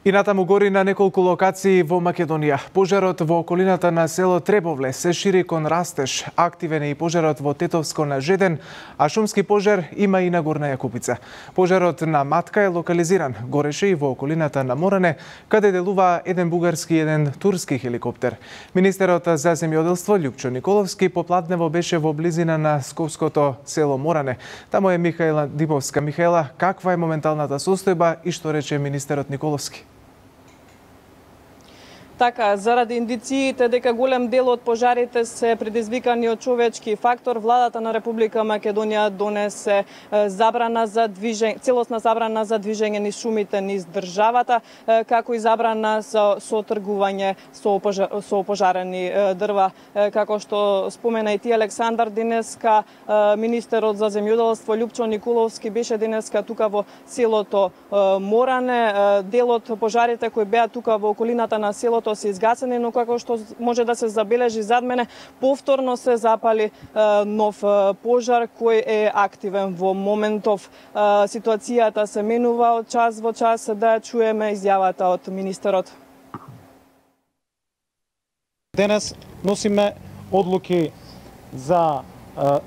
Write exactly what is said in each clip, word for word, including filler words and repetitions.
И натаму гори на неколку локации во Македонија. Пожарот во околината на село Требовле се шири кон растеж. Активен е и пожарот во Тетовско на Жеден, а шумски пожар има и на Горна Јакупица. Пожарот на Матка е локализиран. Гореше и во околината на Моране, каде делува еден бугарски и еден турски хеликоптер. Министерот за земјоделство Љупчо Николовски попладнево беше во близина на сковското село Моране. Таму е Михаела Димовска. Михаела, каква е моменталната состојба и што рече министерот Николовски? Така, заради индициите дека голем дел од пожарите се предизвикани од човечки фактор, владата на Република Македонија донесе забрана за движење, целосна забрана за движење низ шумите низ државата, како и забрана за со тргување со, пожар, со пожарени дрва. Како што спомена и ти Александар, денеска министерот за земјоделство Љупчо Николовски беше денеска тука во селото Моране. Дел од пожарите кои беа тука во околината на селото се изгасени, но како што може да се забележи зад мене, повторно се запали нов пожар кој е активен во моментов. Ситуацијата се менува од час во час, да чуеме изјавата од министерот. Денес носиме одлуки за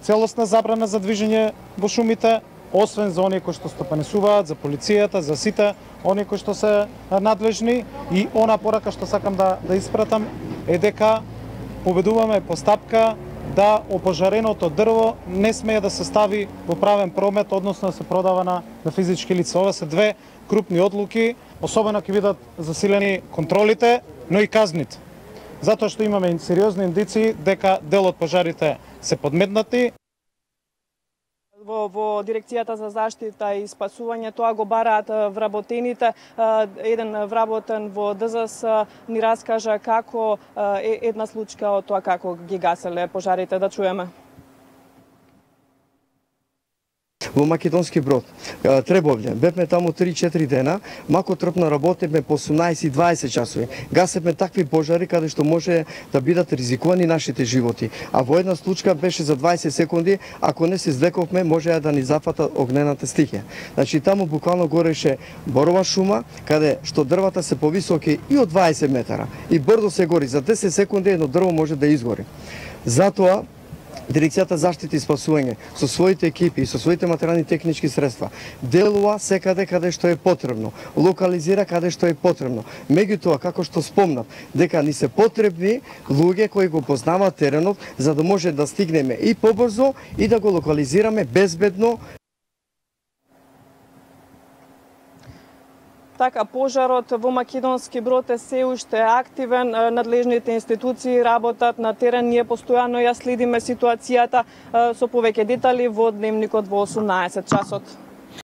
целосна забрана за движење во шумите, освен за оние кои што стопанисуваат, за полицијата, за сите оние кои што се надлежни. И она порака што сакам да, да испратам е дека поведуваме постапка да опожареното дрво не смее да се стави во правен промет, односно да се продава на, на физички лица. Ова се две крупни одлуки, особено ќе бидат засилени контролите, но и казните. Затоа што имаме сериозни индиции дека дел од пожарите се подметнати. Во, во Дирекцијата за заштита и спасување тоа го бараат вработените. Еден вработен во ДЗС ни раскажа како е една случка од тоа како ги гаселе пожарите. Да чуеме. Во Македонски Брод, Требовле, бевме таму три-четири дена, мако трпно работевме по осумнаесет и дваесет часови. Гасевме такви пожари каде што може да бидат ризикувани нашите животи. А во една случка беше за дваесет секунди, ако не се извлековме, може да ни зафата огнената стихија. Значи таму буквално гореше борова шума, каде што дрвата се повисоки и од дваесет метара. И брдо се гори, за десет секунди едно дрво може да изгори. Затоа Дирекцијата за заштита и спасување со своите екипи и со своите материјални технички средства делува секаде каде што е потребно, локализира каде што е потребно. Меѓутоа, како што спомнав, дека ни се потребни луѓе кои го познаваат теренот, за да може да стигнеме и побрзо и да го локализираме безбедно. Така, пожарот во Македонски Брод е се уште активен, надлежните институции работат на терен, ние постојано ја следиме ситуацијата со повеќе детали во дневникот во осумнаесет часот.